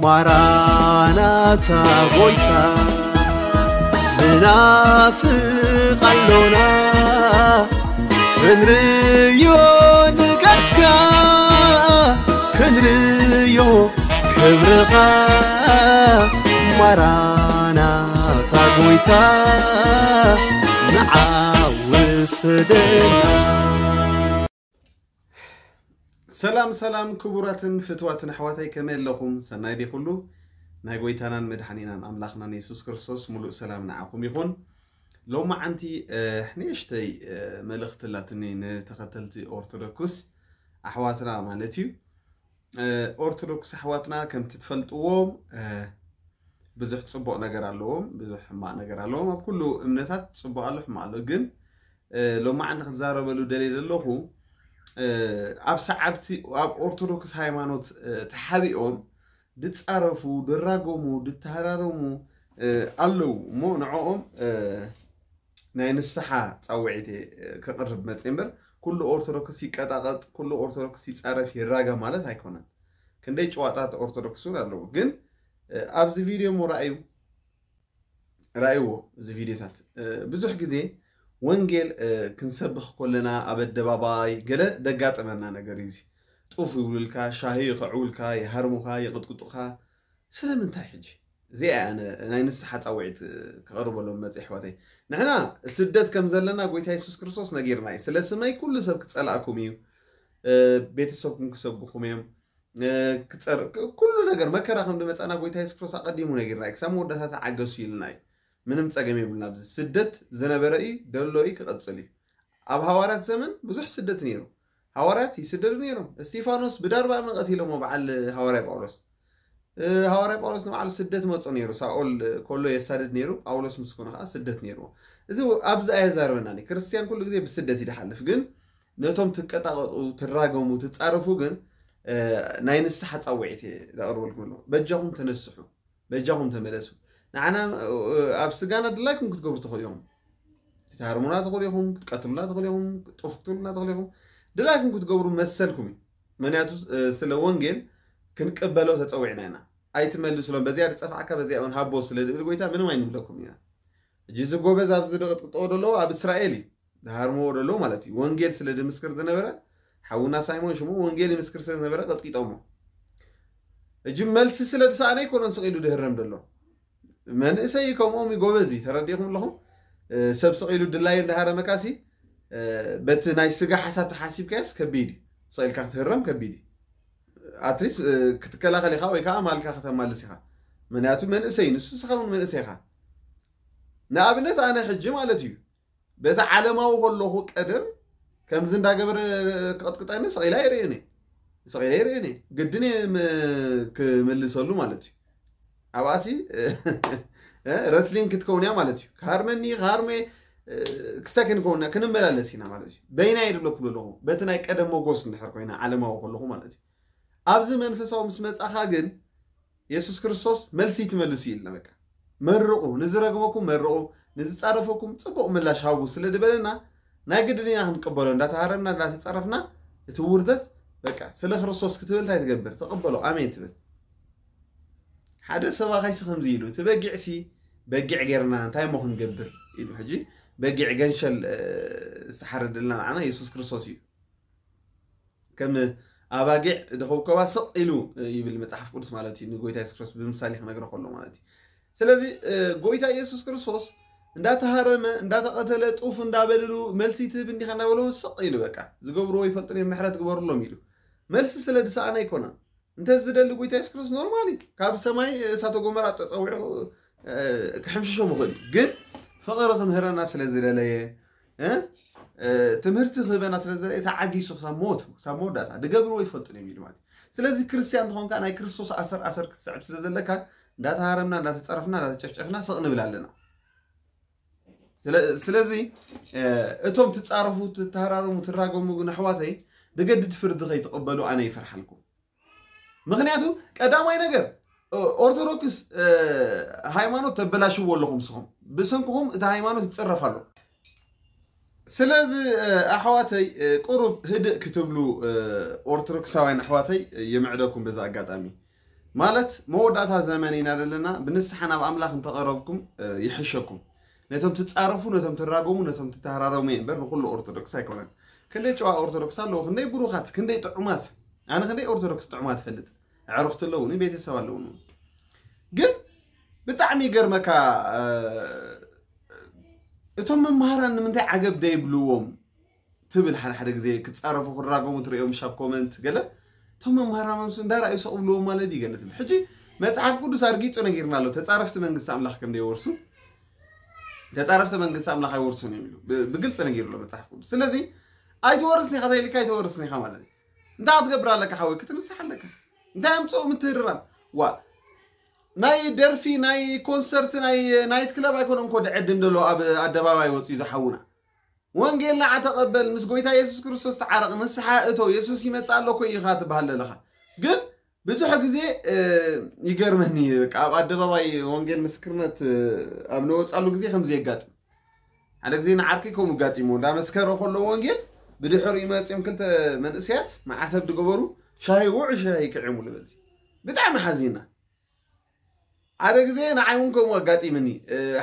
ማራናታ ጎይታ ንናፍቕ ኣሎና፣ ክንርእዮ ንገጽካ፣ ክንርእዮ ክብርኻ። ማራናታ ጎይታ ንዓ ውሰደና። ሰላም ሰላም ክቡራትን ፍትዋትን ኣሕዋተይ፣ ከመይ ኣለኹም? ሰናይ ድዩ ኩሉ? ናይ ጎይታናን መድሓኒናን ኣምላኽናን የሱስ ክርስቶስ ሙሉእ ሰላም ንዓኹም ይኹን። ሎማዓንቲ ንእሽተይ መልእኽቲ ኣላትኒ ንተኸተልቲ ኦርቶዶክስ ኣሕዋትና ማለት እዩ። ኦርቶዶክስ ኣሕዋትና ከምቲ ትፈልጥዎም ብዙሕ ጽቡቕ ነገር ኣለዎም፣ ብዙሕ ሕማቕ ነገር ኣለዎም። ኣብ ኩሉ እምነታት ጽቡቕ ኣሎ፣ ሕማቕ ኣሎ። ግን ሎማዓንቲ ክዛረበሉ ደልየ ዘለኹ ኣብ ሰዓብቲ ኣብ ኦርቶዶክስ ሃይማኖት ተሓቢኦም ድጻረፉ፣ ድራገሙ፣ ድተሃራረሙ ኣለዉ እሞ ንዕኦም ናይ ንስሓ ጻውዒት እየ ከቕርብ መጽእ እምበር፣ ኩሉ ኦርቶዶክስ ይቀጣቐጥ፣ ኩሉ ኦርቶዶክስ ይጻረፍ ይራገም ማለት ኣይኮነን። ክንደይ ጨዋጣት ኦርቶዶክስ እውን ኣለዉ። ግን ኣብዚ ቪድዮ እሞ ራእዩ ራእይዎ እዚ ቪድዮታት ብዙሕ ግዜ ወንጌል ክንሰብኽ ከለና ኣብ ኣደባባይ ገለ ደጋጠመና ነገር እዩ። ጡፍ ይብሉልካ፣ ሻሂ ይኸዕውልካ፣ ይሃርሙኻ፣ ይቕጥቅጡኻ። ስለምንታይ ሕጂ? እዚኣ እያ ኣነ ናይ ንስሓ ጻውዒት ክቐርበሎም መጽ ኣሕዋተይ። ንሕና ስደት ከም ዘለና ጎይታ የሱስ ክርስቶስ ነጊርና እዩ። ስለ ስመይ ኩሉ ሰብ ክጸላእኩም እዩ፣ ቤተሰብኩም ክሰብኹም እዮም፣ ክጸር ኩሉ ነገር መከራ ከም ዝመጻና ጎይታ የሱስ ክርስቶስ ኣቐዲሙ ነጊርና እዩ። ክሳብ መወዳእታ ተዓገሱ ኢልና እዩ። ምንም ጸገም የብልና። ኣብዚ ስደት ዝነበረ እዩ፣ ደሎ እዩ፣ ክቐጽል እዩ። ኣብ ሃዋርያት ዘመን ብዙሕ ስደት ነይሩ። ሃዋርያት ይስደዱ ነይሮም። እስቲፋኖስ ብዳርባ እምኒ ቀቲሎሞ በዓል ሃዋርያ ጳውሎስ። ሃዋርያ ጳውሎስ ንባዕሉ ስደት መጾ ነይሩ። ሳኦል ኮሎ የሳድድ ነይሩ፣ ጳውሎስ ምስ ኮነ ከኣ ስደት ነይርዎ። እዚ ኣብዚ ኣየዛርበናን እዩ። ክርስትያን ኩሉ ግዜ ብስደት እዩ ዝሓልፍ። ግን ነቶም ትቀጣቐጡ፣ ትራገሙ፣ ትጻረፉ ግን ናይ ንስሓ ጻውዒት እየ ዘቕርበልኩም ኣለኹ። በጃኹም ተነስሑ፣ በጃኹም ተመለሱ። ንዓና ኣብ ስጋና ድላይኩም ክትገብሩ ትኽእሉ ኢኹም። ክትሃርሙና ትኽእሉ ኢኹም፣ ክትቀትሉና ትኽእሉ ኢኹም፣ ጡፍ ክትብሉና ትኽእሉ ኢኹም። ድላይኩም ክትገብሩ መሰልኩም እዩ። ምክንያቱ ስለ ወንጌል ክንቅበሎ ተጸዊዕና ኢና። ኣይትመልስሎም፣ በዚኣ ዝጸፍዓካ በዚኣ እውን ሃቦ ስለ ዝብል ጎይታ ምንም ኣይንብለኩም ኢና። ሕጂ እዚ ጎበዝ ኣብዚ ዝቕጥቅጥዎ ዘለዉ ኣብ እስራኤል እዩ ዝሃርምዎ ዘለዉ ማለት እዩ። ወንጌል ስለ ዝምስክር ዝነበረ ሓውና ሳይሞን ሽሙ ወንጌል ይምስክር ስለ ዝነበረ ቀጥቂጦሞ። ሕጂ መልሲ ስለ ዝሰኣነ ኣይኮነን ስቕ ኢሉ ዝህረም ዘሎ። መንእሰይ ከምኦም እዩ፣ ጎበዝ እዩ። ተረዲእኩም ኣለኹም? ሰብ ስቕ ኢሉ ድላዩ እንዳሃረመካሲ በቲ ናይ ስጋ ሓሳብ ተሓሲብካዮስ ከቢድ እዩ። ስቕ ኢልካ ክትህረም ከቢድ እዩ። ኣትሊስት ክትከላኸል ኢኻ ወይ ከዓ ማልካ ከተማልስ ኢኻ። ምክንያቱ መንእሰይ ንሱ፣ ንስኻ እውን መንእሰይ ኢኻ። ንኣብነት ኣነ ሕጂ ማለት እዩ በቲ ዓለማዊ ከለኹ ቀደም ከምዚ እንዳገበረ ክቕጥቅጠኒ ስቕ ኢለ ኣይርእን እየ። ስቕ ኢለ ኣይርእን እየ። ግድን እየ ም- ክምልሰሉ ማለት እዩ። ኣብኣሲ ረስሊንግ ክትከውን እያ ማለት እዩ። ክሃርመኒ ክሃርመ ክስታይ ክንከውን ኢና፣ ክንመላለስ ኢና ማለት እዩ። በይና እየ ዝብለኩም ዘለኹ በቲ ናይ ቀደም ሞጎስ እንድሕር ኮይና ዓለማዊ ከለኹ ማለት እዩ። ኣብዚ መንፈሳዊ ምስ መጻኻ ግን የሱስ ክርስቶስ መልሲ ትመልሱ ኢልና በቃ መርቑ፣ ንዝረግመኩም መርቑ፣ ንዝጻረፈኩም ጽቡቕ ምላሽ ሃቡ ስለ ዝበለና ናይ ግድን ኢና ክንቀበሎ። እንዳተሃረምና እንዳተጻረፍና እቲ ውርደት በቃ ስለ ክርስቶስ ክትብል እንታይ ትገብር? ተቐበሎ፣ ኣሜን ትብል። ሓደ ሰባኻይሲ ከምዚ ኢሉ እቲ በጊዕሲ በጊዕ ጌርና እንታይ እሞ ክንገብር ኢሉ። ሕጂ በጊዕ ገንሸል ዝተሓረደልና ንዓና የሱስ ክርስቶስ እዩ። ከም ኣባጊዕ ዝኸብከባ ስቕ ኢሉ ይብል መጽሓፍ ቅዱስ ማለት እዩ። ንጎይታ የሱስ ክርስቶስ ብምሳሌ ክነግረ ከሎ ማለት እዩ። ስለዚ ጎይታ ኢየሱስ ክርስቶስ እንዳተሃረመ እንዳተቐተለ ጡፍ እንዳበልሉ መልሲ ትህብ እንዲኻ እንዳበለዎ ስቕ ኢሉ በቃ ዝገብርዎ ይፈልጥን እዮም ምሕረት ግበርሎም ኢሉ መልሲ ስለ ዝሰኣነ ኣይኮነን። እንተ ዝደሊ ጎይታ የሱስ ክርስቶስ ኖርማል እዩ። ካብ ሰማይ እሳተ ጎመራ ተጸዊዑ ክሕምሽሾም ይኽእል እዩ። ግን ፍቕሪ ክምህረና ስለ ዝደለየ ትምህርቲ ክህበና ስለ ዝደለየ ተዓጊሱ ክሳብ ሞት ክሳብ መወዳእታ ዝገብርዎ ይፈልጡ እዮም ኢሉ ማለት እዩ። ስለዚ ክርስትያን እንተኾንካ ናይ ክርስቶስ ኣሰር ኣሰር ክትስዕብ ስለ ዘለካ እንዳተሃረምና እንዳተፀረፍና እንዳተጨፍጨፍና ስቕ ንብል ኣለና። ስለዚ እቶም ትፃረፉ ትተሃራረሙ ትራገሙ ግን ኣሕዋተይ ብገድድ ፍርዲ ከይትቕበሉ ኣነ ይፈርሓልኩም። ምክንያቱ ቀዳማይ ነገር ኦርቶዶክስ ሃይማኖት ተበላሽዎ ኣለኹም ንስኹም ብሰንክኹም እቲ ሃይማኖት ይፅረፍ ኣሎ። ስለዚ ኣሕዋተይ ቁሩብ ህድእ ክትብሉ ኦርቶዶክሳውያን ኣሕዋተይ የምዕደኩም በዛ ኣጋጣሚ። ማለት መወዳእታ ዘመን ኢና ዘለና። ብንስሓ ናብ ኣምላኽ እንተቐረብኩም ይሕሸኩም። ነቶም ትጻረፉ፣ ነቶም ትራገሙ፣ ነቶም ትተሃራረሙ እየ እምበር ንኹሉ ኦርቶዶክስ ኣይኮነን። ክንደይ ጨዋ ኦርቶዶክስ ኣለዉ፣ ክንደይ ብሩኻት፣ ክንደይ ጥዑማት። ኣነ ክንደይ ኦርቶዶክስ ጥዑማት እፈልጥ። ኣዕሩኽቲ ኣለዉኒ፣ ቤተሰብ ኣለዉኒ። ግን ብጣዕሚ ይገርመካ። እቶም መምሃራን ንምንታይ ዓገብ ደይብልዎም ትብል። ሓደ ሓደ ግዜ ክጻረፉ ክራገሙ ትርእዮም ሻብ ኮመንት ገለ። እቶም መምሃራን ምስ እንዳረኣዩ ሰቕ ብልዎም ማለት እዩ ገለ ትብል። ሕጂ መጽሓፍ ቅዱስ ኣርጊጹ ነጊርና ኣሎ፣ ተጻረፍቲ መንግስቲ ኣምላኽ ከም ደይወርሱ። ተጻረፍቲ መንግስቲ ኣምላኽ ኣይወርሱን እዮም ኢሉ ብግልጺ ነጊሩ ኣሎ መጽሓፍ ቅዱስ። ስለዚ ኣይትወርስን ኢኻ ተይልካ ኣይትወርስን ኢኻ ማለት እዩ። እንታይ ክትገብር ኣለካ ሓወይ? ክትንስሕ ኣለካ። እንታይ ኣምጽኡ ምትህርራም? ዋ ናይ ደርፊ ናይ ኮንሰርት ናይ ናይት ክለብ ኣይኮነን እኮ ድዕድም ደሎ ኣብ ኣደባባይ ወፅዩ ዝሓውና። ወንጌል ንዓ ተቐበል፣ ምስ ጎይታ የሱስ ክርስቶስ ተዓረቕ፣ ንስሓ እቶ፣ የሱስ ይመጽእ ኣሎ እኮ ኢኻ ትበሃል ዘለኻ። ግን ብዙሕ ግዜ ይገርመኒ፣ በቃ ኣብ ኣደባባይ ወንጌል ምስክርነት ኣብ ነወጻሉ ግዜ ከምዚ የጋጥም። ሓደ ግዜ ንዓርከይ ከምኡ ኣጋጢሞ፣ እንዳመስከረ ከሎ ወንጌል ብድሕሪኡ መጺኦም ክልተ መንእሰያት መዓተብ ዝገበሩ ሻሂ ውዑ ሻሂ ክዕሙሉ በዚ ብጣዕሚ ሓዚና። ሓደ ግዜ ንዓይ እውን ከምኡ ኣጋጢምኒ።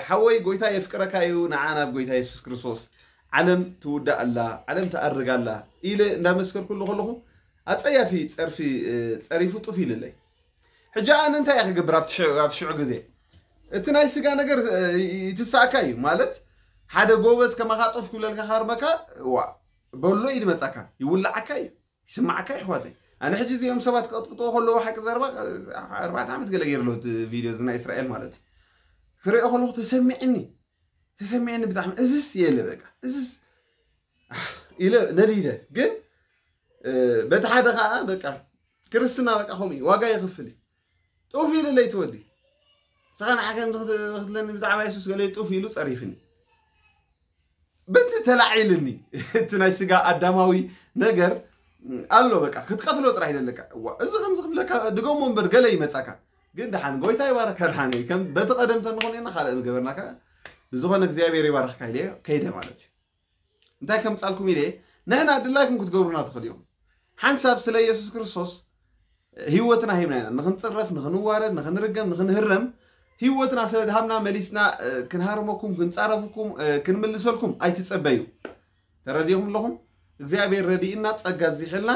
ሓወይ ጎይታ የፍቅረካ እዩ፣ ንዓ ናብ ጎይታ የሱስ ክርስቶስ። ዓለም ትውዳእ ኣላ፣ ዓለም ትኣርግ ኣላ ኢለ እንዳመስከርኩሉ ከለኹ ኣጸያፊ ጸርፊ ጸሪፉ ጡፍ ኢልለይ። ሕጂ ኣነ እንታይ እየ ክገብር ኣብቲ ሽዑ ግዜ? እቲ ናይ ስጋ ነገር ይትሳእካ እዩ ማለት ሓደ ጎበዝ ከማኻ ጡፍ ክብለልካ ካርመካ ዋ በሎ ይድመፀካ ይውላዓካ እዩ። ይስማዓካ ይሕዋተይ። ኣነ ሕጂ እዚኦም ሰባት ክቐጥቅጥዎ ከለዎ ሓቂ ዘረባ ኣርባዕተ ዓመት ገለ ገይርሎ ቪድዮ እዚ ናይ እስራኤል ማለት እዩ ክሪኦ ከለኹ ተሰሚዕኒ ተሰሚዕኒ ብጣዕሚ እዝስ የለ በቃ እዝስ ኢለ ነዲደ። ግን በቲ ሓደ ከዓ በቃ ክርስትና በቃ ከምኡ እዩ ዋጋ የኽፍል እዩ። ጡፍ ኢሉ ለይቲ ወዲ ስኻ ንዓ ከም ክትለኒ ብዛዕባ የሱስ ገለ ጡፍ ኢሉ ፀሪፍኒ። በቲ ተላዒልኒ እቲ ናይ ስጋ ኣዳማዊ ነገር ኣሎ በቃ ክትቀትሎ ጥራሕ ይደለካ። እዋ እዚ ከምዚ ክብለካ ድገሞ እምበር ገለ ይመጻካ። ግን ደሓን ጎይታ ይባረካ ደሓን ከም በቲ ቀደም ተንኾን ኢና ካልእ ምገበርናካ ብዝኾነ እግዚኣብሔር ይባረክካ ኢለ ከይደ ማለት እዩ። እንታይ ከምጻልኩም ኢለ ንሕና ድላይኩም ክትገብሩና ትኽእል እዮም። ሓንሳብ ስለ ኢየሱስ ክርስቶስ ህይወትና ሂብና ኢና ንኽንጽረፍ ንኽንዋረድ ንኽንርገም ንኽንህረም ህይወትና ስለ ድሃብና መሊስና ክንሃርመኩም ክንጻረፍኩም ክንምልሰልኩም ኣይትጸበዩ። ተረዲኹም ኣለኹም። እግዚኣብሔር ረዲእና ጸጋ ኣብዚሕልና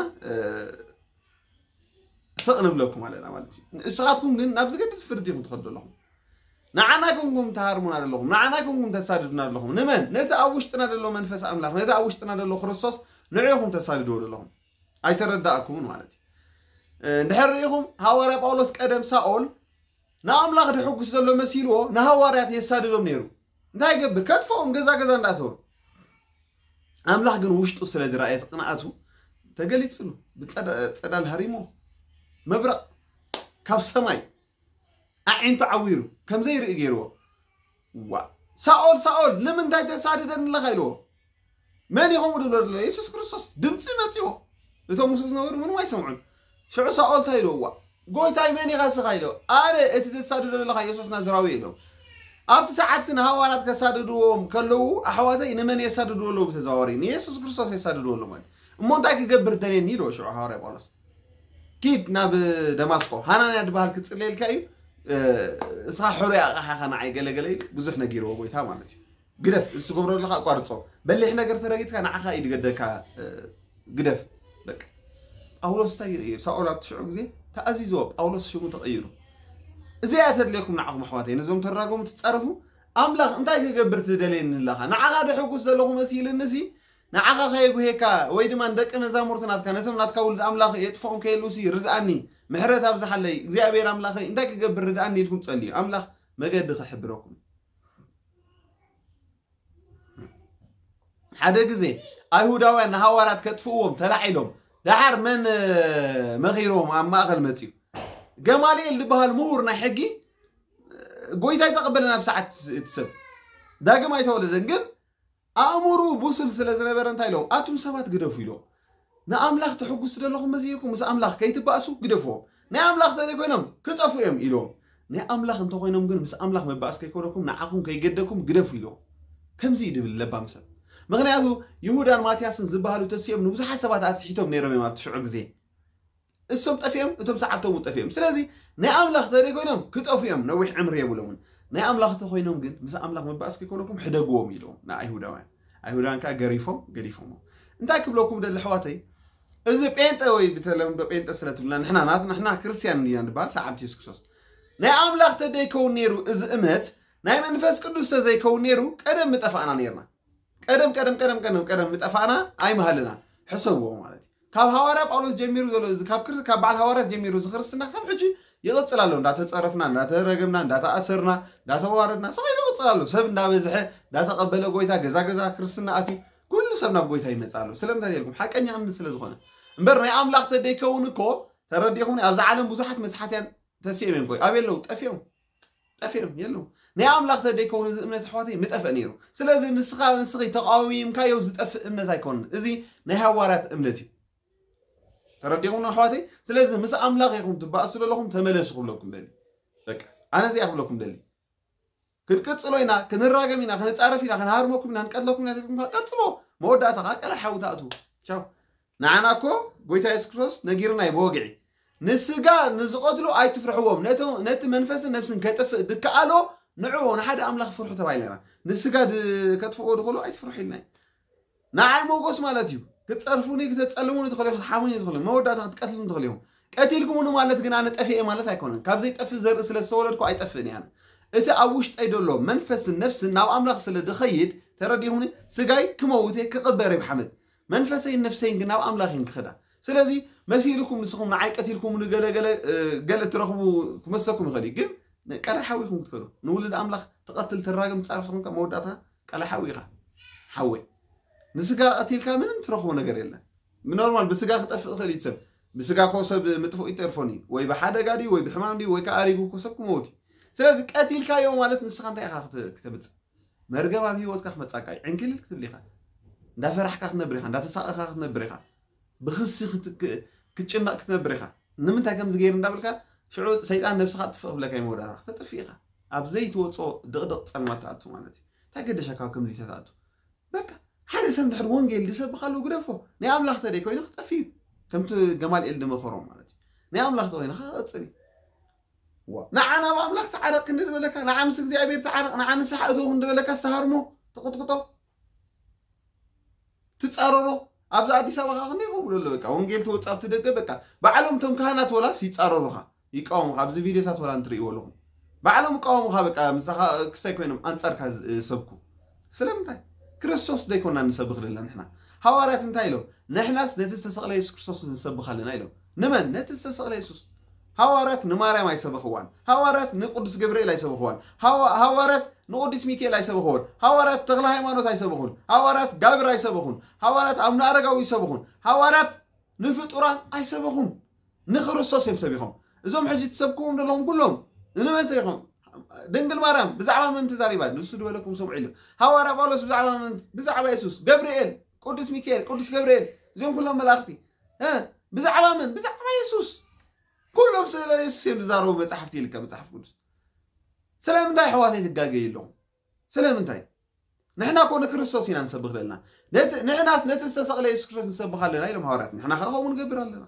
ስቕ ንብለኩም ኣለና ማለት እዩ። ንስኻትኩም ግን ናብ ዝገድድ ፍርዲ ኢኹም ትኸዱ ኣለኹም። ንዓና ኮንኩም ትሃርሙና ዘለኹም ንዓና ኮንኩም ተሳድዱና ዘለኹም ንመን ነቲ ኣብ ውሽጥና ዘሎ መንፈስ ኣምላኽ ነቲ ኣብ ውሽጥና ዘሎ ክርስቶስ ንዕኹም ተሳድድዎ ዘለኹም። ኣይተረዳእኩምን ማለት እዩ። እንድሕር ርኢኹም ሃዋርያ ጳውሎስ ቀደም ሳኦል ንኣምላኽ ድሕጉስ ዘሎ መሲልዎ ንሃዋርያት የሳድዶም ነይሩ። እንታይ ይገብር ከጥፍኦም ገዛ ገዛ እንዳእተወ ኣምላኽ ግን ውሽጡ ስለ ዝረኣየ ቅንኣቱ ተገሊጽሉ ብጸዳል ሃሪሞ መብረቕ ካብ ሰማይ ኣዒንቱ ዓዊሩ ከም ዘይርኢ ገይርዎ። ዋ ሳኦል ሳኦል ንምንታይ ተሳድደኒ ኣለኻ ኢልዎ። መን ኢኹም ድብሎ ዘሎ የሱስ ክርስቶስ ድምፂ መፂዎ። እቶም ምስኡ ዝነበሩ ምንም ኣይሰምዑን። ሽዑ ሳኦል እንታይ ኢልዎ? ዋ ጎይታይ መን ኢኻ ስኻ ኢልዎ። ኣነ እቲ ተሳድዶ ዘለኻ የሱስ ናዝራዊ ኢልዎ። ኣብቲ ሰዓት ንሃዋርያት ከሳድድዎም ከለዉ ኣሕዋተይ ንመን የሳድድዎ ኣለዉ ብተዘዋዋሪ ንየሱስ ክርስቶስ የሳድድዎ ኣለዉ ማለት እሞ እንታይ ክገብር ደልየኒ ኢልዎ ሽዑ ሃዋርያ ጳውሎስ ኪድ ናብ ደማስቆ ሃናንያ ዝበሃል ክጽለየልካ እዩ። እስኻ ሕሩይ ኣቕሓኻ ንዓይ ገለገለ ኢሉ ብዙሕ ነጊርዎ ጎይታ ማለት እዩ። ግደፍ እዚ ትገብሮ ኣለካ ኣቋርጾ። በሊሕ ነገር ተረጊጽካ ንዓኻ እዩ ዝገደካ። ግደፍ በቃ። ጳውሎስ እንታይ ይርኢ? ሳኦል ኣብቲ ሽዑ ግዜ ተኣዚዝዎ ጳውሎስ ሽሙ ተቐይሩ። እዚኣ ተድልየኩም ንዓኹም ኣሕዋተይ ነዞም ተራጎሙ ትጻረፉ ኣምላኽ እንታይ ክገብር ትደልየኒ ኣለኻ? ንዓኻ ደሕጉስ ዘለኹ መሲልኒ ሲ ንዓኻ ከየጉሄካ ወይ ድማ ንደቂ መዛሙርቲ ናትካ ነቶም ናትካ ውሉድ ኣምላኽ የጥፍኦም ከየሉ ሲ ርድኣኒ ምሕረት ኣብዝሓለይ እግዚኣብሔር ኣምላኸይ እንታይ ክገብር ርድኣኒ ኢልኩም ጸልዩ ኣምላኽ መገዲ ክሕብረኩም። ሓደ ግዜ ኣይሁዳውያን ንሃዋርያት ከጥፍእዎም ተላዒሎም ደሓር መን መኺርዎም ኣብ ማእኸል መፅዩ ገማልኤል ዝበሃል ምሁር ናይ ሕጊ ጎይታ ይተቐበለ ናብ ሰዓት እቲ ሰብ ዳግም ኣይተወለደን ግን ኣእምሩ ብሱል ስለ ዝነበረ እንታይ ኢሎም ኣቱም ሰባት ግደፉ ኢሎም ንኣምላኽ ተሕጉስ ዘለኹም መዚርኩም ምስ ኣምላኽ ከይትባእሱ ግደፍዎም ናይ ኣምላኽ ተዘይኮይኖም ክጠፉ እዮም ኢሎም ናይ ኣምላኽ እንተኮይኖም ግን ምስ ኣምላኽ መባእስ ከይኮነኩም ንዓኹም ከይገደኩም ግደፉ ኢሎም ከምዚ እዩ ድብል ለባም ሰብ ምክንያቱ ይሁዳን ማትያስን ዝበሃሉ ተሲኦም ንብዙሓት ሰባት ኣስሒቶም ነይሮም እዮም ኣብቲ ሽዑ ግዜ እሶም ጠፊኦም፣ እቶም ሰዓብቶም እውን ጠፊኦም። ስለዚ ናይ ኣምላኽ ተዘይኮይኖም ክጠፉ እዮም፣ ነዊሕ ዕምሪ የብሎምን። ናይ ኣምላኽ ተኮይኖም ግን ምስ ኣምላኽ መባእስ ከይኮነኩም ሕደግዎም ኢልዎም ንኣይሁዳውያን። ኣይሁዳውያን ከዓ ገሪፎም ገዲፎሞ። እንታይ ክብለኩም ደሊ ኣሕዋተይ፣ እዚ ጴንጠ ወይ ብተለምዶ ጴንጠ ስለ ትብልና ንሕና ናት ንሕና ክርስትያን እንዲና ንበሃል ሰዓብቲ የሱስ ክርስቶስ። ናይ ኣምላኽ ተደይከውን ነይሩ እዚ እምነት፣ ናይ መንፈስ ቅዱስ ተዘይከውን ነይሩ ቀደም ምጠፋእና ነይርና። ቀደም ቀደም ቀደም ቀደም ቀደም ምጠፋእና ኣይምሃልና። ሕሰብዎ ማለት እዩ። ካብ ሃዋርያ ጳውሎስ ጀሚሩ ዘሎ እዚ ካብ ክርስ ካብ በዓል ሃዋርያት ጀሚሩ እዚ ክርስትና ክሳብ ሕጂ ይቕጽል ኣሎ። እንዳተጸረፍና፣ እንዳተረገምና፣ እንዳተኣሰርና፣ እንዳተዋረድና ሰው ይቕጽል ኣሎ። ሰብ እንዳበዝሐ እንዳተቐበለ ጎይታ ገዛ ገዛ ክርስትና ኣትዩ ኩሉ ሰብ ናብ ጎይታ ይመጽእ ኣሎ። ስለምንታይ ኢልኩም ሓቀኛ እምነት ስለ ዝኾነ እምበር ናይ ኣምላኽ ተደይከውን እኮ ተረዲኹም ኣብዚ ዓለም ብዙሓት መስሓትያን ተሲኦም እዮም። ኣበይ ኣለዉ? ጠፊኦም ጠፊኦም የለዉ። ናይ ኣምላኽ ተደይከውን እዚ እምነት ኣሕዋተይ ምጠፍአ ነይሩ። ስለዚ ንስኻ ንስኺ ተቃዊምካዮ ዝጠፍእ እምነት ኣይኮንን። እዚ ናይ ሃዋርያት እምነት እዩ። ተረዲኹም ኣሕዋተይ? ስለዚ ምስ ኣምላኽ ኢኹም ትባእሱ ዘለኹም ተመለሱ ክብለኩም ደሊ። በቃ ኣነ እዚኣ ክብለኩም ደሊ። ክንቅጽሎ ኢና፣ ክንራገም ኢና፣ ክንጻረፍ ኢና፣ ክንሃርመኩም ኢና፣ ንቀትለኩም ኢና ተልኩም ቀጽሎ። መወዳእታ ከዓ ቀላ ሓዊ ትኣትዉ። ቻው። ንዓና እኮ ጎይታ የሱስ ክርስቶስ ነጊርና እዩ ብወግዒ። ንስጋ ንዝቐትሉ ኣይትፍርሕዎም፣ ነቲ መንፈስን ነፍስን ከጥፍእ ድከኣሎ ንዕዎ ንሓደ ኣምላኽ ፍርሑ ተባሂልና ኢና። ንስጋ ከጥፍእዎ ድኽእሉ ኣይትፍርሑ ኢልና እዩ። ንዓይ ሞጎስ ማለት እዩ። ክትጸርፉኒ፣ ክተጸልሙኒ ትኽእሉ ኢኹም፣ ክትሓሙኒ ትኽእሉ ኢኹም፣ መወዳእታ ክትቀትሉኒ ትኽእሉ ኢኹም። ቀቲልኩምኒ ማለት ግን ኣነ ጠፊኤ ማለት ኣይኮነን። ካብ ዘይጠፍእ ዘርኢ ስለ ዝተወለድኩ ኣይጠፍእን እየ ኣነ። እቲ ኣብ ውሽጠይ ዘሎ መንፈስን ነፍስን ናብ ኣምላኽ ስለ ድኸይድ ተረዲኹምኒ፣ ስጋይ ክመውት እየ፣ ክቕበር እየ ብሓመድ። መንፈሰይን ነፍሰይን ግን ናብ ኣምላኽ እየን ክኸዳ። ስለዚ መሲልኩም ንስኹም ንዓይ ቀቲልኩምኒ ገለ ገለ ገለ ትረኽቡ ክመስለኩም ይኽእል እዩ፣ ግን ቀላይ ሓዊ ኢኹም ክትከዱ። ንውሉድ ኣምላኽ ትቐትል ትራገም ትጻረፍ ንስኹም ከ መወዳእታ ቀላይ ሓዊ ኢኻ። ሓወይ ንስጋ ቀቲልካ ምንም ትረኽቦ ነገር የለን። ብኖርማል ብስጋ ክጠፍእ ይኽእል እዩ ሰብ። ብስጋ ኮ ሰብ ምጥፍኡ ይተርፎን እዩ፣ ወይ ብሓደጋ ድዩ ወይ ብሕማም ድዩ ወይ ከዓ ኣሪጉ ኮ ሰብ ክመውት እዩ። ስለዚ ቀቲልካዮ ማለት ንስኻ እንታይ ኢኻ ክተ- ክተምጽእ? መርገም ኣብ ህይወትካ ክመጻካ እዩ። ዕንክልል ክትብል ኢኻ። እንዳፈራሕካ ክትነብር ኢኻ፣ እንዳተሳቐኻ ክትነብር ኢኻ። ብኽሲ ክት- ክ- ክትጭነቕ ክትነብር ኢኻ። ንምንታይ ከምዚ ገይሩ እንዳበልካ ሽዑ ሰይጣን ነብስኻ ጥፍእ ክብለካ እዩ መወዳእታ። ክተጥፍእ ኢኻ። ኣብ ዘይትወጾ ድቕድቕ ጸልማት ትኣቱ ማለት እዩ። እንታይ ገደሻ ካብ ከምዚ ተትኣቱ? በቃ ሓደ ሰብ እንድሕር ወንጌል ዝሰብኻሉ ግደፎ። ናይ ኣምላኽ ተደይ ኮይኑ ክጠፍእ እዩ። ከምቲ ገማልኤል ዝመኸሮም ማለት እዩ። ናይ ኣምላኽ ተኮይኑ ክቐጽል እዩ። ዋ፣ ንዓ ናብ ኣምላኽ ተዓረቕ ክንዲ ዝበለካ፣ ንዓ ምስ እግዚኣብሔር ተዓረቕ፣ ንዓ ንስሓ እተው ክንዲ ዝበለካ ዝተሃርሞ ተቕጥቅጦ ትጻረሮ። ኣብዚ ኣዲስ ኣበባ ከኣ ክንደይ ከምኡ ኣሎ። በቃ ወንጌል ተወጽእ ኣብቲ ደገ በቃ ባዕሎም እቶም ካህናት ወላስ ይጻረሩኻ፣ ይቃወሙኻ። ኣብዚ ቪድዮታት ወላ እንትርእይዎ ኣለኹም ባዕሎም ይቃወሙኻ። በቃ ምሳኻ ክሳይ ኮይኖም ኣንጻርካ ዝሰብኩ ስለምንታይ? ክርስቶስ ዘይኮና ንሰብኽ ዘለና ንሕና። ሃዋርያት እንታይ ኢሎም? ንሕናስ ነቲ ዝተሰቕለ የሱስ ክርስቶስ ንሰብኽ ኣለና ኢሎም። ንመን? ነቲ ዝተሰቕለ የሱስ። ሃዋርያት ንማርያም ኣይሰበኽዋን። ሃዋርያት ንቅዱስ ገብርኤል ኣይሰበኽዋን። ሃዋ- ሃዋርያት ንቅዱስ ሚካኤል ኣይሰበኽዎን። ሃዋርያት ተክለ ሃይማኖት ኣይሰበኹን። ሃዋርያት ጋብር ኣይሰበኹን። ሃዋርያት ኣቡነ ኣረጋዊ ኣይሰበኹን። ሃዋርያት ንፍጡራን ኣይሰበኹን። ንክርስቶስ እዮም ሰቢኾም። እዞም ሕጂ ትሰብክዎም ዘለኹም ኩሎም ንመን ሰቢኾም? ድንግል ማርያም ብዛዕባ መን ተዛሪባ? ንሱ ዝበለኩም ስምዑ ኢሉ። ሃዋርያ ጳውሎስ ብዛዕባ መን? ብዛዕባ የሱስ። ገብርኤል፣ ቅዱስ ሚካኤል፣ ቅዱስ ገብርኤል፣ እዚኦም ኩሎም መላእኽቲ እ፣ ብዛዕባ መን? ብዛዕባ የሱስ። ኩሎም ስለ የሱስ እዮም ዝዛረቡ መጽሓፍቲ ኢልካ መጽሓፍ ቅዱስ። ስለምንታይ ኣሕዋተይ ትጋገዩ ኣለኹም? ስለምንታይ? ንሕና እኮ ንክርስቶስ ኢና ንሰብኽ ዘለና። ነቲ ንሕናስ ነቲ ዝተሰቕለ የሱስ ክርስቶስ ንሰብኽ ኣለና ኢሎም ሃዋርያት። ንሕና ከኣ ከምኡ ንገብር ኣለና።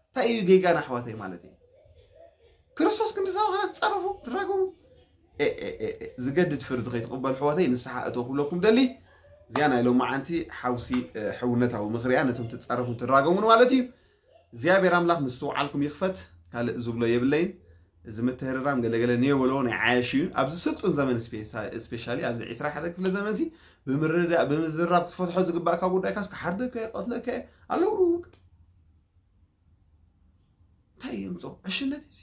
እንታይ እዩ ጌጋና ኣሕዋተይ ማለት እዩ? ክርስቶስ ክንዲ ሰብኽና ትጻረፉ፣ ትራገሙ። ኤ፣ ኤ፣ ኤ፣ ኤ፣ ዝገድድ ፍርዲ ከይትቕበሉ ኣሕዋተይ ንስሓ እተው ክብለኩም ደሊ። እዚኣ ናይ ሎማዓንቲ ሓውሲ፣ እ፣ ሕውነታዊ ምኽሪ እያ ነቶም ትጻረፉን ትራገሙን ማለት እዩ። እግዚኣብሔር ኣምላኽ ምስትውዓልኩም ይኽፈት። ካልእ ዝብሎ የብለይን። እዚ ምትህርራም ገለገለ ነየበሎ ናይ ዓያሽ እዩ። ኣብዚ ስልጡን ዘመን ስፔሻ- ስፔሻሊ ኣብዚ ዕስራ ሓደ ክፍለ ዘመን ሲ ብምርዳእ ብምዝራብ ክትፈትሖ ዝግባእካ ጉዳይ ካስ ክሓርደካ እየ፣ ቀትለካ እየ ኣለዉ። እንታይ የምፅኦ ዕሽነት እዚ?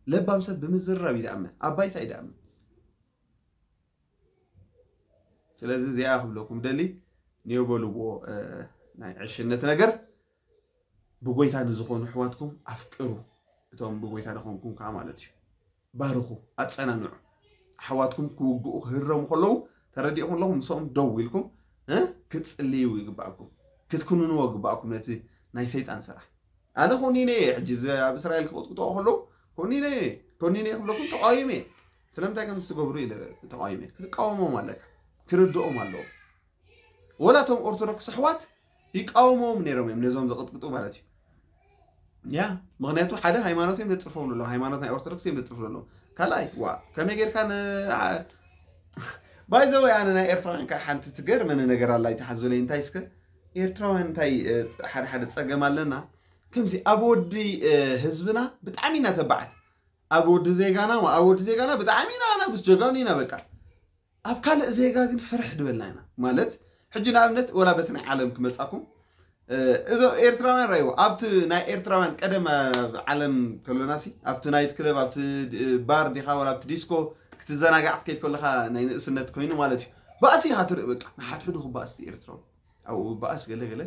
ለባም ሰብ ብምዝራብ ይደኣምን ኣብ ባይታ ይደኣምን። ስለዚ እዚኣ ክብለኩም ደሊ ነየበልዎ፣ እ፣ ናይ ዕሽነት ነገር ብጎይታ ንዝኾኑ ኣሕዋትኩም ኣፍቅሩ። እቶም ብጎይታ ዝኾንኩም ከዓ ማለት እዩ። ባርኹ፣ ኣጸናንዑ። ኣሕዋትኩም ክውግኡ ክህረሙ ከለዉ ተረዲእኩም ኣለኹም፣ ምስኦም ደው ኢልኩም፣ እ፣ ክትጽልዩ ይግባእኩም። ክትኩንንዎ ይግባእኩም ነቲ ናይ ሰይጣን ስራሕ። ኣነ ኮኒነ እየ፣ ሕጂ እዚ ኣብ እስራኤል ክቕጥቅጥዎ ከለዉ ኮኒነ እየ፣ ኮኒነ እየ ክብለኩም ተቃዊመ እየ። ስለምንታይ ከም ዝትገብሩ ኢለ ተቃዊመ እየ። ክትቃወሞም ኣለካ፣ ክርድኦም ኣለዎም። ወላ እቶም ኦርቶዶክስ ኣሕዋት ይቃወምዎም ነይሮም እዮም፣ ነዞም ዘቕጥቅጡ ማለት እዩ። ያ ምክንያቱ ሓደ ሃይማኖት እዮም ዘፅርፈው ዘለዉ፣ ሃይማኖት ናይ ኦርቶዶክስ እዮም ዘፅርፈው ዘለዉ። ካልኣይ ዋ ከመይ ጌርካ ን ባይዘወይ ኣነ ናይ ኤርትራውያን ከዓ ሓንቲ ትገርመኒ ነገር ኣላ ይተሓዝበለይ እንታይ እስከ ኤርትራውያን እንታይ ሓደ ሓደ ፀገም ኣለና ከምዚ ኣብ ወዲ ህዝብና ብጣዕሚ ኢና ተባዓት ኣብ ወዲ ዜጋና ኣብ ወዲ ዜጋና ብጣዕሚ ኢና ኣናብስ ጀጋኑ ኢና በቃ ኣብ ካልእ ዜጋ ግን ፍርሕ ድበልና ኢና ማለት ሕጂ ንኣብነት ወላ በቲ ናይ ዓለም ክመፃኩም እዞ ኤርትራውያን ራይዎ ኣብቲ ናይ ኤርትራውያን ቀደም ዓለም ከሎናሲ ኣብቲ ናይት ክለብ ኣብቲ ባር ዲኻ ወላ ኣብቲ ዲስኮ ክትዘናጋዕ ትከይድ ከለካ ናይ ንእስነት ኮይኑ ማለት እዩ ባእሲ ኢኻ ትርኢ በቃ ንሓድሕዱ ክባእስ ኤርትራዊ ኣብኡ ባእስ ገለ ገለ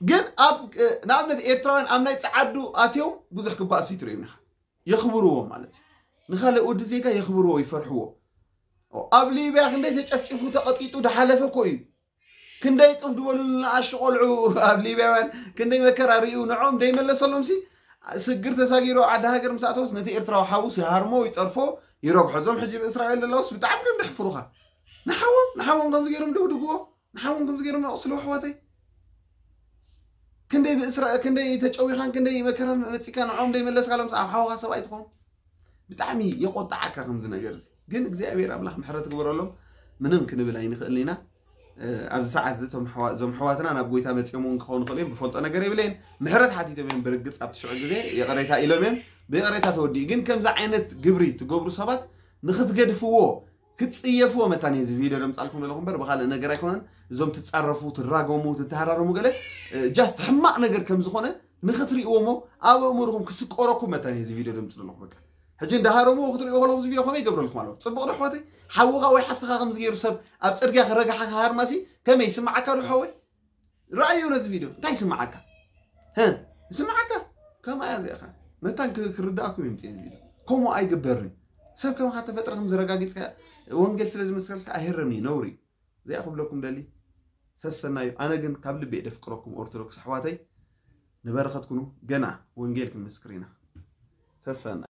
ግን ኣብ ንኣብነት ኤርትራውያን ኣብ ናይ ፀዓዱ ኣትዮም ብዙሕ ክባእስ ይትርእዮም ኢኻ የኽብርዎ ማለት እዩ ንኻልእ ወዲ ዜጋ የኽብርዎ ይፈርሕዎ ኣብ ሊብያ ክንደይ ተጨፍጭፉ ተቐጢጡ ድሓለፈ እኮ እዩ ክንደይ ጥፍ ዝበሉ ንኣሽቱ ቆልዑ ኣብ ሊብያውያን ክንደይ መከራ ርእዩ ንዖም ደይመለሰሎም ሲ ስግር ተሳጊሩ ዓዲ ሃገር ምስ ኣተወስ ነቲ ኤርትራዊ ሓውስ ይሃርሞ ይፀርፎ ይረግሖ እዞም ሕጂ ብእስራኤል ዘለውስ ብጣዕሚ ከም ደሕፍሩኻ ንሓዎም ንሓዎም ከምዚ ገይሮም ደብድግዎ ንሓዎም ከምዚ ገይሮም ኣቕስልዎ ኣሕዋተይ ክንደይ ብእስራ ክንደይ ተጨዊኻን ክንደይ መከራን መፂካ ንዖም ደይመለስካሎም ኣብ ሓውኻ ሰብኣይ ትኾን ብጣዕሚ የቆጣዓካ ከምዚ ነገር እዚ ግን እግዚኣብሔር ኣምላኽ ምሕረት ግበረሎም ምንም ክንብል ኣይንኽእል ኢና ኣብዚ ሰዓት እዚ እዞም ሕዋትና ናብ ጎይታ መፅኦም እውን ክኸውን ይኽእል እዮም ብፈልጦ ነገር የብለይን ምሕረት ሓቲቶም እዮም ብርግፅ ኣብቲ ሽዑ ግዜ ይቕሬታ ኢሎም እዮም ብይቕሬታ ተወዲኡ ግን ከምዚ ዓይነት ግብሪ ትገብሩ ሰባት ንክትገድፍዎ ክትፅየፍዎ መታን እዚ ቪድዮ ደምፃልኩም ዘለኹ እምበር ብካልእ ነገር ኣይኮነን እዞም ትፃረፉ ትራገሙ ትተሃራረሙ ገለ ጃስት ሕማቕ ነገር ከም ዝኾነ ንክትርእዎ ሞ ኣብ ኣእምርኹም ክስቆረኩም መታን እዚ ቪድዮ ደምፅ ዘለኹ በቃ ሕጂ እንዳሃረምዎ ክትርእዎ ከለኹም እዚ ቪድዮ ከመይ ይገብረልኩም ኣለዎ ፅቡቕ ዶ ኣሕዋተይ ሓውኻ ወይ ሓፍትኻ ከም ዝገይሩ ሰብ ኣብ ፅርግያ ክረግሓ ክሃርማሲ ከመይ ይስምዓካ ዶ ሓወይ ረኣዮ ነዚ ቪድዮ እንታይ ይስምዓካ ይስምዓካ ከምኣ እያ እዚኣኻ መታን ክርዳእኩም ይምፅ ቪድዮ ከምኡ ኣይግበርን ሰብ ከምኻ ተፈጥረ ከም ዝረጋጊፅካ ወንጌል ስለ ዝመስከልካ ኣይህረምኒ ነውሪ እዚኣ ክብለኩም ደሊ ሰሰናዩ ኣነ ግን ካብ ልቤ ደፍቅረኩም ኦርቶዶክስ ኣሕዋተይ ንበረኸትኩኑ ገና ወንጌል ክንምስክር ኢና ሰሰና